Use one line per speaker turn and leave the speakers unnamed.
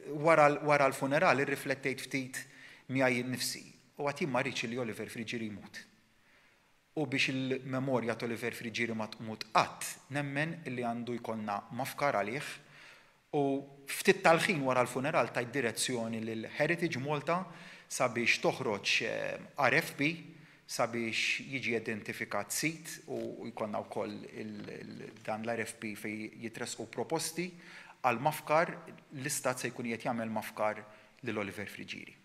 Wara l-funeral irriflettejt ftit miegħi nnifsi u għedt jien ma rridx li Oliver Friggieri jmut. U biex il-memorja ta' Oliver Friggieri ma tmut qatt, nemmen li għandu jkollna mafkar għalih u ftit tal-ħin wara l-funeral tajt direzzjoni lil Heritage Malta sabiex toħroġ RFP sabiex jiġi identifikat sit u jkollna wkoll dan l-RFP fejn jitressqu proposti għal mafkar. L-istat se jkun qiegħed jagħmel mafkar lil Oliver Friggieri.